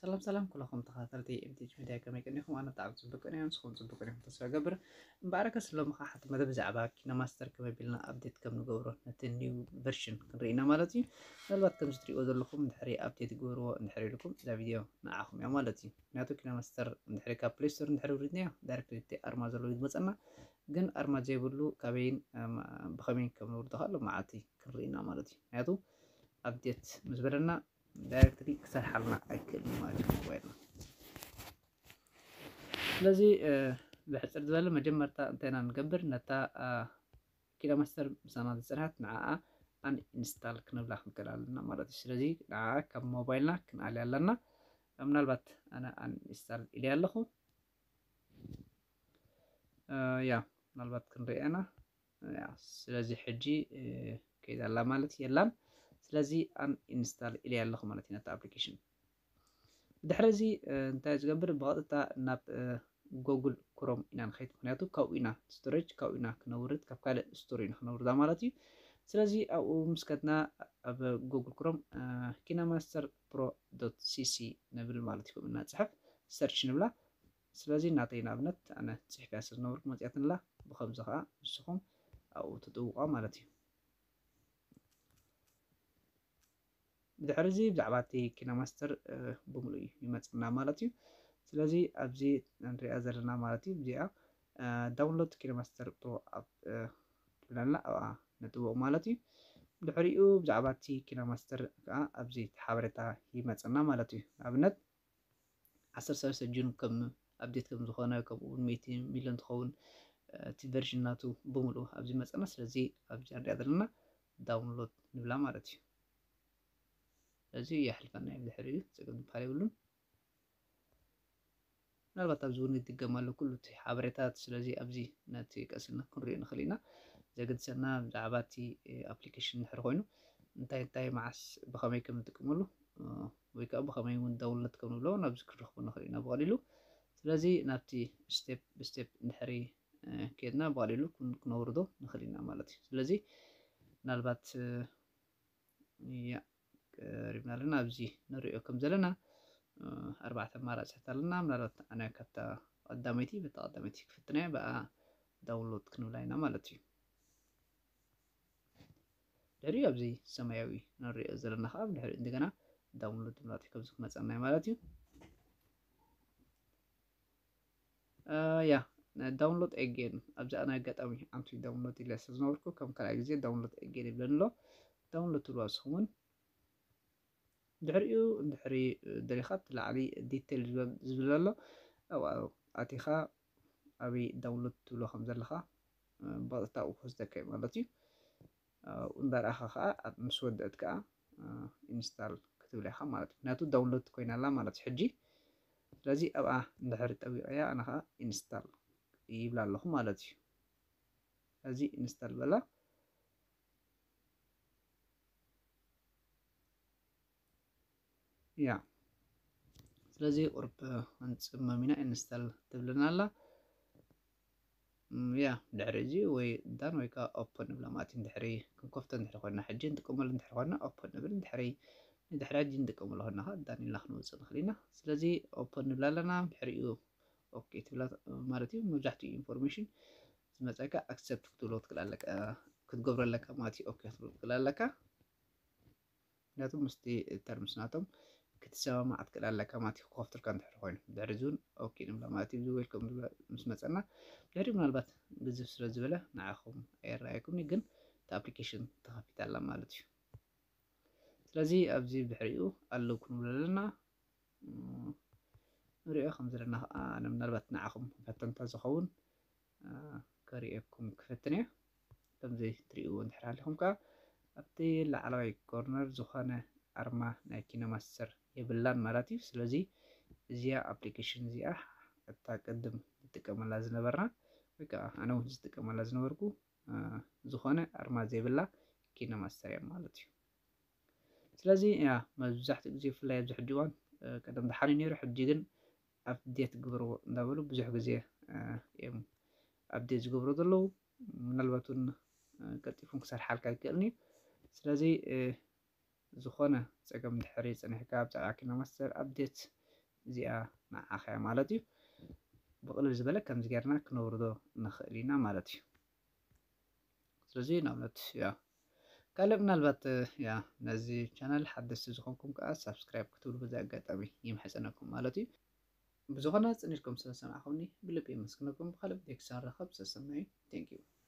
ሰላም ሰላም ኩለኹም ተኸታተልቲ ኤምቲኤች ሚድያ፣ ከመይ ቀኒኹም? ኣነ ብጣዕሚ ጽቡቅ ቀኒየ፣ ንስኹም ጽቡቅ ቀኒኹም ተስፋ እገብር። እምበኣርከስ ሎሚ ኸዓ ሓንቲ መደብ ብዛዕባ ኪነማስተር ከመይ ኣቢልና ኣፕዴት ከም ንገብሮ ነቲ ኒው ቨርሽን ክንርኢ ኢና ማለት እዩ። ምናልባት ከምዚ ትሪእዎ ዘለኹም እንድሕሪ ኣፕዴት ግበርዎ እንድሕሪ ኢልኩም እዛ ቪድዮ ንዓኹም እያ ማለት እዩ። ምክንያቱ ኪነማስተር እንድሕሪ ካብ ፕሌይ ስቶር እንድሕሪ ውሪድናዮ ዳይሬክት እቲ ኣርማ ዘለዎ እዩ ዝመጸና፣ ግን ኣርማ ዘይብሉ ካበይን ብኸመይን ከም ንውርዶ ኸኣ ሎማዓንቲ ክንርኢ ኢና ማለት እዩ። ምክንያቱ ኣፕዴት ምስ በለና ዳይሬክትሊ ክሰርሓልና ኣይክእልን ማለት እዩ ሞባይልና። ስለዚ ብሕፅር ዝበለ መጀመርታ እንታይ ኢና ንገብር? ነታ ኪነማስተር ምሳና ዝፀንሐት ንዓኣ ኣን ኢንስታል ክንብላ ክንክእል ኣለና ማለት እዩ። ስለዚ ንዓኣ ካብ ሞባይልና ክንኣልያ ኣለና። ምናልባት ኣነ ኣን ኢንስታል ኢለ ኣለኹ። ያ ምናልባት ክንሪኦ ኢና። ስለዚ ሕጂ ከይዳ ኣላ ማለት የላን። ስለዚ ኣን ኢንስታል ኢለ ኣለኹ ማለት እዩ ነቲ ኣፕሊኬሽን። ብድሕሪ እዚ እንታይ ዝገብር? ብቐጥታ ናብ ጎግል ክሮም ኢና ንኸይድ። ምክንያቱ ካብኡ ኢና ስቶሬጅ ካብኡ ኢና ክነውርድ፣ ካብ ካልእ ስቶር ኢና ክነውርዳ ማለት እዩ። ስለዚ ኣብኡ ምስ ከድና ኣብ ጎግል ክሮም ኪነማስተር ፕሮ ዶት ሲሲ ንብል ማለት እዩ። ከምኡ እናፅሕፍ ሰርች ንብላ። ስለዚ ናተይ ንኣብነት ኣነ ፅሕፍያ ስለ ዝነበርኩ መፅያትንላ። ብኸምዚ ከዓ ንስኹም ኣብኡ ትጥውቋ ማለት እዩ። ብድሕሪ እዚ ብዛዕባ እቲ ኪነማስተር ብምሉእ ይመፅና ማለት እዩ። ስለዚ ኣብዚ ንሪኣ ዘለና ማለት እዩ እዚኣ ዳውንሎድ ኪነማስተር ፕሮ ኣፕ ትብለና ኣብኣ ነጥውቕ ማለት እዩ። ድሕሪኡ ብዛዕባ እቲ ኪነማስተር ከዓ ኣብዚ ሓበሬታ ይመፀና ማለት እዩ። ንኣብነት ዓሰርተ ሰለስተ ጁን ከም ኣፕዴት ከም ዝኾነ፣ ከምኡ እውን ሚእቲ ሚሊዮን ትኸውን እቲ ቨርዥን ናቱ ብምሉእ ኣብዚ መፀና። ስለዚ ኣብዚ ንሪኣ ዘለና ዳውንሎድ ንብላ ማለት እዩ። ስለዚ የሕልፈና እዩ ብድሕሪኡ፣ ፀገም ዝበሃል የብሉን። ምናልባት ኣብዚ እውን ይድገም ኣሎ ኩሉ እቲ ሓበሬታት። ስለዚ ኣብዚ ነቲ ቀስልና ክንሪኦ ንኽእል ኢና። ዘገድሰና ብዛዕባ እቲ ኣፕሊኬሽን እንድሕር ኮይኑ እንታይ እንታይ መዓስ ብኸመይ ከም ንጥቀመሉ ወይ ከዓ ብኸመይ እውን ዳውንሎድ ከም ንብሎ ናብዚ ክንረኽቦ ንኽእል ኢና ብቐሊሉ። ስለዚ ናብቲ ስቴፕ ብስቴፕ እንድሕሪ ከድና ብቐሊሉ ክነውርዶ ንኽእል ኢና ማለት እዩ። ስለዚ ምናልባት ያ ቀሪብና ኣለና። ኣብዚ ንሪኦ ከም ዘለና ኣርባዕተ ኣማራፅታት ኣለና። ምናልባት ኣነ ካብታ ቀዳመይቲ በታ ቀዳመይቲ ክፍትና እየ፣ ብኣ ዳውንሎድ ክንብላ ኢና ማለት እዩ። ድሕሪኡ ኣብዚ ሰማያዊ ንሪኦ ዘለና ከዓ ብድሕሪኡ እንደገና ዳውንሎድ ንብላ ከምዚ ክመፀና እዩ ማለት እዩ። ያ ዳውንሎድ ኤጌን ኣብዚ ኣነ ኣጋጣሚ ኣንቲ ዳውንሎድ ኢለ ስለ ዝነበርኩ ከም ካልኣይ ግዜ ዳውንሎድ ኤጌን ይብለኒ ኣሎ። ዳውንሎድ ትብሉ ንስኹም እውን ድሕሪኡ እንድሕሪ ደሊኻ እቲ ላዕሊ ዲቴል ዝብል ኣሎ ኣብኡ ኣቲኻ ኣበይ ዳውንሎድ ትብሎ ከም ዘለኻ ብቐጥታ ኣብኡ ክወስደካ እዩ ማለት እዩ። እንዳረኣኻ ከዓ ምስ ወደእት ከዓ ኢንስታል ክትብል ኢኻ ማለት እዩ። ምክንያቱ ዳውንሎድ ኮይና ኣላ ማለት እዩ ሕጂ። ስለዚ ኣብኣ እንድሕር ጠዊቐያ ኣነ ከዓ ኢንስታል ይብላ ኣለኹ ማለት እዩ። ስለዚ ኢንስታል በላ። ያ ስለዚ ቁርብ ክንፅመም ኢና። ኢንስታል ትብለና ኣላ። ያ ድሕሪ እዚ ወይ ዳን ወይ ከዓ ኦፕን ንብላ ማለት እዩ። ድሕሪ ክንከፍቶ እንድሕሪ ኮይና ሕጂ እንጥቀመሉ እንድሕሪ ኮይና ኦፕን ንብል። ድሕሪ ንድሕሪ ሕጂ እንጥቀመሉ ኮይና ከዓ ዳን ኢልና ክንወፅእ ንኽእል ኢና። ስለዚ ኦፕን ንብላ ኣለና። ድሕሪኡ ኦኬ ትብላ ማለት እዩ። መብዛሕትኡ ኢንፎርሜሽን ዝመፀካ ኣክሰፕት ክትብሎ ትክእል ኣለካ፣ ክትገብሮ ኣለካ ማለት እዩ። ኦኬ ክትብሎ ትክእል ኣለካ። ምክንያቱ ምስቲ ተርምስ ናቶም ክትሰማማዕ ትክእል ኣለካ ማለት እዩ። ክኸፍትልካ እንድሕር ኮይኑ ድሕሪ እዚ እውን ኦኬ ንብላ ማለት እዩ። እዚ ዌልኮም ዝብላ ምስ መፀና ድሕሪ ምናልባት ግዝፍ ስለ ዝበለ ንዓኹም ኣየረኣየኩምኒ፣ ግን እቲ ኣፕሊኬሽን ተኸፊታ ኣላ ማለት እዩ። ስለዚ ኣብዚ ድሕሪኡ ኣለዉ ክንብሎ ኣለና። ንሪኦ ከም ዘለና ከዓ ኣነ ምናልባት ንዓኹም ፈተንታ ዝኸውን ከርእየኩም ክፈትን እየ። ከምዚ ትሪእዎ እንድሕር ሃሊኹም ከዓ ኣብቲ ላዕለዋይ ኮርነር ዝኾነ ኣርማ ናይ ኪነማስተር የብላን ማለት እዩ። ስለዚ እዚኣ ኣፕሊኬሽን እዚኣ እታ ቅድም ንጥቀመላ ዝነበርና ወይ ከዓ ኣነ እውን ዝጥቀመላ ዝነበርኩ ዝኾነ ኣርማ ዘይብላ ኪነማስተር እያ ማለት እዩ። ስለዚ ያ መብዛሕትኡ ግዜ ብፍላይ ኣብዚ ሕጂ እዋን ቀደም ደሓን እዩ ነይሩ፣ ሕጂ ግን ኣፕዴት ግበርዎ እንዳበሉ ብዙሕ ግዜ እዮም ኣፕዴት ዝገብሩ ዘለዉ። ምናልባት እውን ቀልጢፉን ክሰርሓልካ ይክእልን እዩ። ስለዚ ዝኾነ ፀገም ድሕሪ ፀኒሕካ ብዛዕባ ኪነማስተር ኣፕዴት እዚኣ ንዓኻ እያ ማለት እዩ። ብቕልል ዝበለ ከምዚ ጌርና ክነውርዶ ንኽእል ኢና ማለት እዩ። ስለዚ ንኣብነት ያ ካልእ ምናልባት ያ ነዚ ቻናል ሓደስቲ ዝኾንኩም ከዓ ሳብስክራይብ ክትብሉ በዚ ኣጋጣሚ ይምሕጸነኩም ማለት እዩ። ብዝኾነ ጽኒትኩም ስለሰማዕኹምኒ ብልቢ የመስግነኩም። ብኻልእ ቪድዮ ክሳብ ንራኸብ ሰሰናዩ። Thank you።